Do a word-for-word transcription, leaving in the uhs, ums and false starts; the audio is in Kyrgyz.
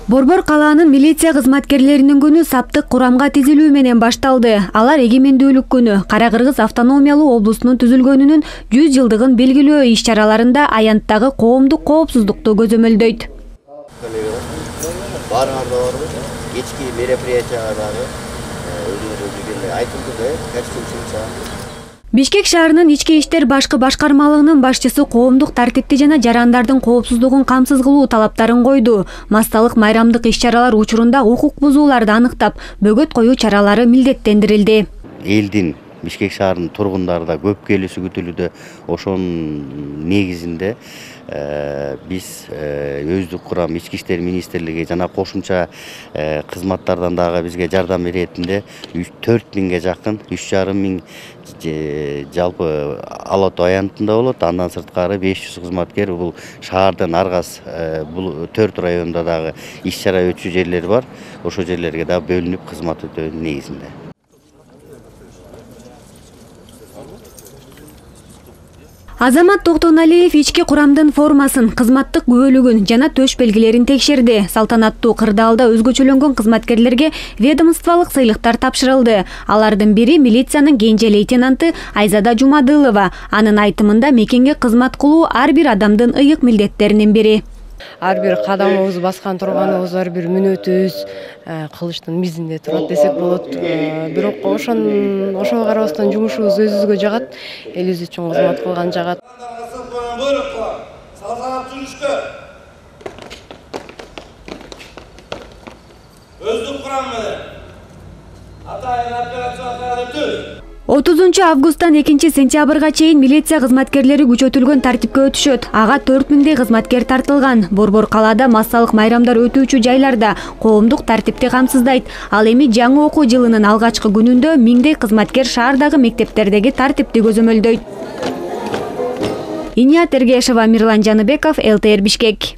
Борбор калаанын милиция кызматкерлеринин күнү саптык курамга тизилүү менен башталды. Алар эгемендүүлүк күнү, Кара Кыргыз автономиялуу облусунун түзүлгөнүнүн жүз жылдыгын белгилөө иш-чараларында аянттагы коомдук коопсуздукту көзөмөлдөйт. Баарыңарда барбы? Кечки мероприятияга дагы өзүңөр айтылды да, костюм. Бишкек шаарынын ички иштер башкы башкармалыгынын башчысы коомдук тартипти жана жарандардын коопсуздугун камсыз кылуу талаптарын койду. Массалык майрамдык иш-чаралар учурунда укук бузууларды аныктап, бөгөт коюу чаралары милдеттендирилди. Элдин Бишкек шаарынын тургундары да көп келүүсү күтүлүүдө. Ошонун негизинде биз өздүк курам ички иштер министрлиги жана кошумча кызматтардан дагы бизге жардам беретинде төрт миңге жакын, үч жарым миң жалпы Ала Тоо аянтында болот. Андан сырткары беш жүз кызматкер бул шаардын аргас бул төрт районунда дагы иш-чара өтчү жерлер бар. Ошол жерлерге дагы бөлүнүп кызмат өтөөнүн негизинде. Азамат Токтоналиев ички курамдын формасын, кызматтык күбөлүгүн жана төш белгилерин текшерди. Салтанаттуу кырдаалда өзгөчөлөнгөн кызматкерлерге ведомстволук сыйлыктар тапшырылды. Алардын бири милициянын кенже лейтенанты Айзада Жумадылова. Анын айтымында мекенге кызмат кылуу ар бир адамдын ыйык милдеттеринин бири. Ар бир кадамыбыз баскан турганыбыз, ар бир мүнөтүбүз кылычтын мизинде турат десек болот. Бирок ошон ошого карабастан жумушубуз өзүбүзгө жагат, элибиз үчүн кызмат кылган жагат. Өздүк курам менен атайын операцияларга түз. отузунчу августтан экинчи сентябрга чейин милиция кызматкерлери күчөтүлгөн тартипке өтүшөт. Ага төрт миңдей кызматкер тартылган. Борбор калаада массалык майрамдар өтүүчү жайларда коомдук тартипти камсыздайт. Ал эми жаңы окуу жылынын алгачкы күнүндө миңдей кызматкер шаардагы мектептердеги тартипти көзөмөлдөйт. Иният Эргешова, Мирлан Жаныбеков, эл тэ эр Бишкек.